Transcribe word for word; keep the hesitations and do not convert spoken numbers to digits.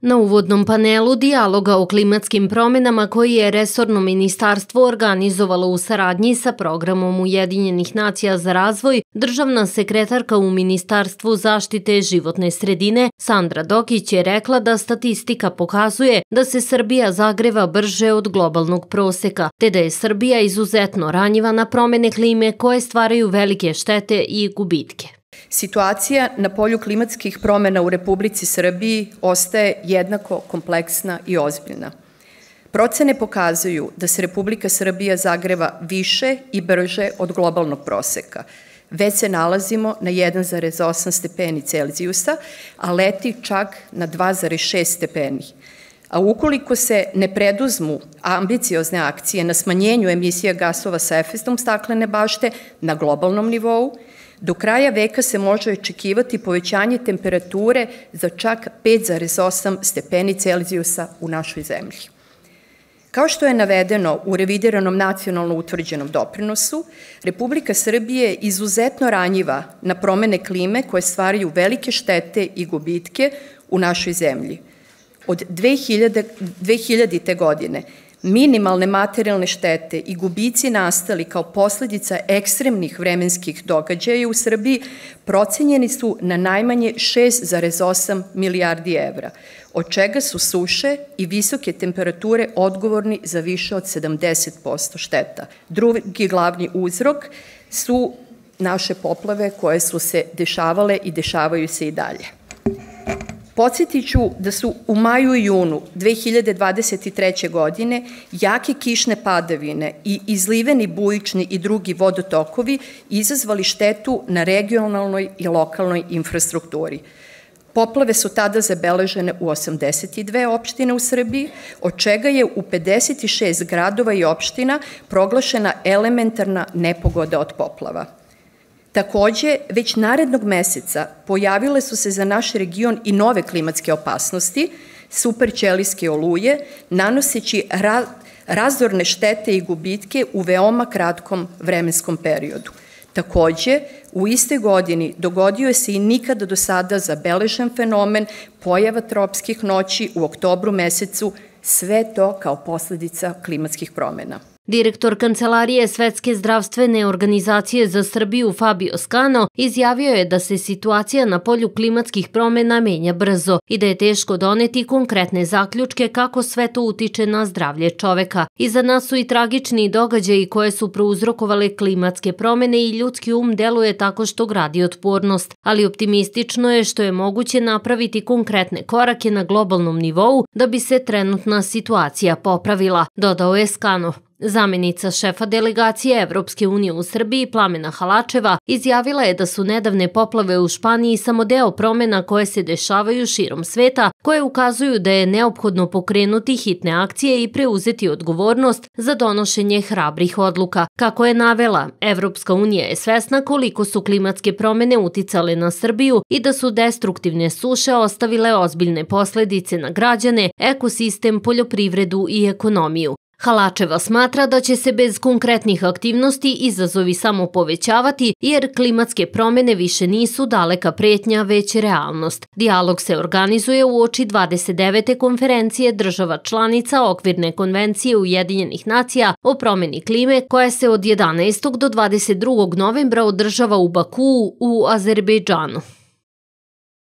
Na uvodnom panelu dijaloga o klimatskim promjenama koji je resorno ministarstvo organizovalo u saradnji sa programom Ujedinjenih nacija za razvoj, državna sekretarka u Ministarstvu zaštite životne sredine Sandra Dokić je rekla da statistika pokazuje da se Srbija zagreva brže od globalnog proseka, te da je Srbija izuzetno ranjiva na promjene klime koje stvaraju velike štete i gubitke. Situacija na polju klimatskih promjena u Republici Srbiji ostaje jednako kompleksna i ozbiljna. Procene pokazuju da se Republika Srbija zagreva više i brže od globalnog proseka. Već se nalazimo na jedan zarez osam stepeni Celzijusa, a leti čak na dva zarez šest stepeni. A ukoliko se ne preduzmu ambiciozne akcije na smanjenju emisija gasova sa efektom staklene bašte na globalnom nivou, do kraja veka se može očekivati povećanje temperature za čak pet zarez osam stepeni Celzijusa u našoj zemlji. Kao što je navedeno u revidiranom nacionalno utvrđenom doprinosu, Republika Srbije je izuzetno ranjiva na promene klime koje stvaraju velike štete i gubitke u našoj zemlji. Od dve hiljadite. godine minimalne materijalne štete i gubici nastali kao posljedica ekstremnih vremenskih događaja u Srbiji procenjeni su na najmanje šest zarez osam milijardi evra, od čega su suše i visoke temperature odgovorni za više od sedamdeset posto šteta. Drugi glavni uzrok su naše poplave koje su se dešavale i dešavaju se i dalje. Podsjetit ću da su u maju i junu dve hiljade dvadeset treće. godine jake kišne padavine i izliveni bujični i drugi vodotokovi izazvali štetu na regionalnoj i lokalnoj infrastrukturi. Poplave su tada zabeležene u osamdeset dve opštine u Srbiji, od čega je u pedeset šest gradova i opština proglašena elementarna nepogoda od poplava. Takođe, već narednog meseca pojavile su se za naš region i nove klimatske opasnosti, superćelijske oluje, nanoseći razorne štete i gubitke u veoma kratkom vremenskom periodu. Takođe, u istoj godini dogodio se i nikada do sada zabeležen fenomen pojava tropskih noći u oktobru mesecu, sve to kao posledica klimatskih promjena. Direktor Kancelarije Svetske zdravstvene organizacije za Srbiju Fabio Scano izjavio je da se situacija na polju klimatskih promjena menja brzo i da je teško doneti konkretne zaključke kako sve to utiče na zdravlje čoveka. Iza nas su i tragični događaji koje su prouzrokovale klimatske promjene i ljudski um deluje tako što gradi otpornost, ali optimistično je što je moguće napraviti konkretne korake na globalnom nivou da bi se trenutna situacija popravila, dodao je Scano. Zamenica šefa delegacije Evropske unije u Srbiji Plamena Halačeva izjavila je da su nedavne poplave u Španiji samo deo promjena koje se dešavaju širom sveta, koje ukazuju da je neophodno pokrenuti hitne akcije i preuzeti odgovornost za donošenje hrabrih odluka. Kako je navela, Evropska unija je svesna koliko su klimatske promjene uticale na Srbiju i da su destruktivne suše ostavile ozbiljne posledice na građane, ekosistem, poljoprivredu i ekonomiju. Halačeva smatra da će se bez konkretnih aktivnosti izazovi samo povećavati jer klimatske promjene više nisu daleka pretnja, već realnost. Dijalog se organizuje uoči dvadeset devete konferencije država članica Okvirne konvencije Ujedinjenih nacija o promjeni klime koja se od jedanaestog do dvadeset drugog novembra održava u Bakuu u Azerbejdžanu.